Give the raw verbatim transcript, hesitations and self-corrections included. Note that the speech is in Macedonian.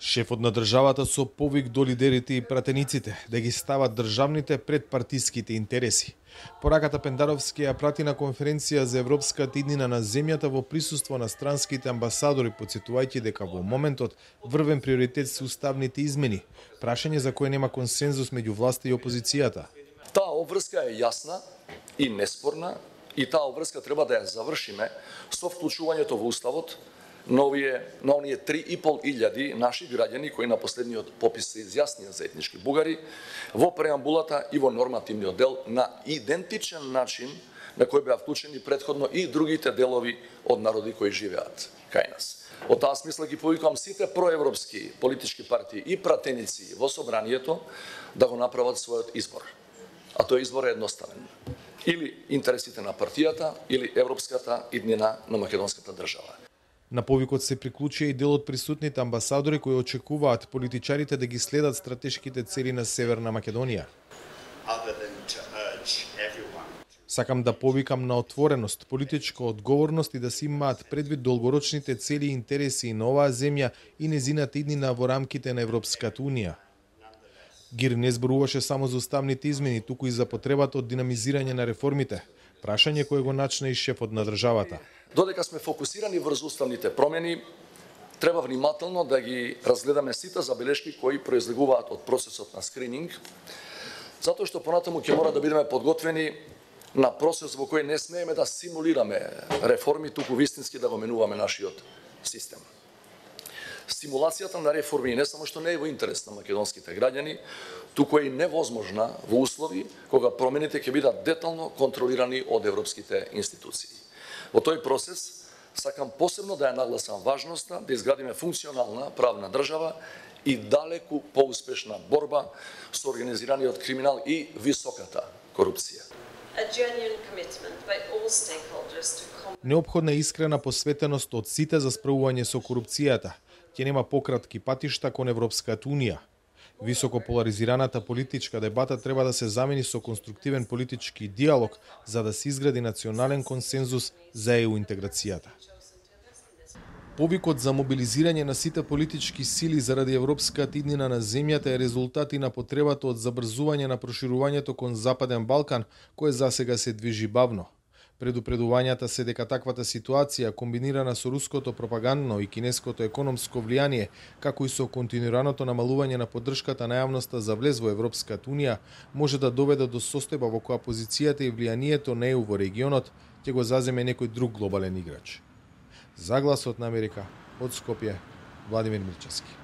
Шефот на државата со повик до лидерите и пратениците да ги стават државните пред партиските интереси. Пораката Пендаровски ја прати на конференција за Европската иднина на земјата во присуство на странските амбасадори, потсетувајќи дека во моментот врвен приоритет се уставните измени, прашање за кое нема консензус меѓу власта и опозицијата. Таа обврска е јасна и неспорна и таа обврска треба да ја завршиме со вклучувањето во уставот на овие на оние три и пол илјади наши граѓани кои на последниот попис се изјаснија за етнички бугари во преамбулата и во нормативниот дел на идентичен начин на кој беа вклучени претходно и другите делови од народи кои живеат кај нас. Во таа смисла ги повикувам сите проевропски политички партии и пратеници во собранието да го направат својот избор. А тој избор е едноставен. Или интересите на партијата, или европската иднина на македонската држава. На повикот се приклучија и дел од присутните амбасадори кои очекуваат политичарите да ги следат стратешките цели на Северна Македонија. Сакам да повикам на отвореност, политичка одговорност и да се имаат предвид долгорочните цели и интереси на оваа земја и незината иднина во рамките на Европската унија. Гир не зборуваше само за уставните измени, туку и за потребата од динамизирање на реформите, прашање кое го начна и шефот на државата. Додека сме фокусирани врз уставните промени, треба внимателно да ги разгледаме сите забелешки кои произлегуваат од процесот на скрининг, затоа што понатаму ќе мора да бидеме подготвени на процес во кој не смееме да симулираме реформи, туку вистински да го менуваме нашиот систем. Стимулацијата на реформи не само што не е во интерес на македонските граѓани, туку е и невозможна во услови кога промените ќе бидат детално контролирани од европските институции. Во тој процес сакам посебно да ја нагласам важноста да изградиме функционална правна држава и далеку поуспешна борба со организираниот криминал и високата корупција. Неопходна е искрена посветеност од сите за справување со корупцијата. Ќе нема пократки патишта кон Европската унија. Високо поларизираната политичка дебата треба да се замени со конструктивен политички диалог за да се изгради национален консензус за е у интеграцијата. Повикот за мобилизирање на сите политички сили заради европската иднина на земјата е резултат и на потребата од забрзување на проширувањето кон Западен Балкан, кое засега се движи бавно. Предупредувањата се дека таквата ситуација, комбинирана со руското пропагандно и кинеското економско влијание, како и со континуираното намалување на поддршката на јавноста за влез во Европската унија, може да доведе до состојба во која позицијата и влијанието на е у во регионот ќе го заземе некој друг глобален играч. За Гласот на Америка, од Скопје, Владимир Мирчевски.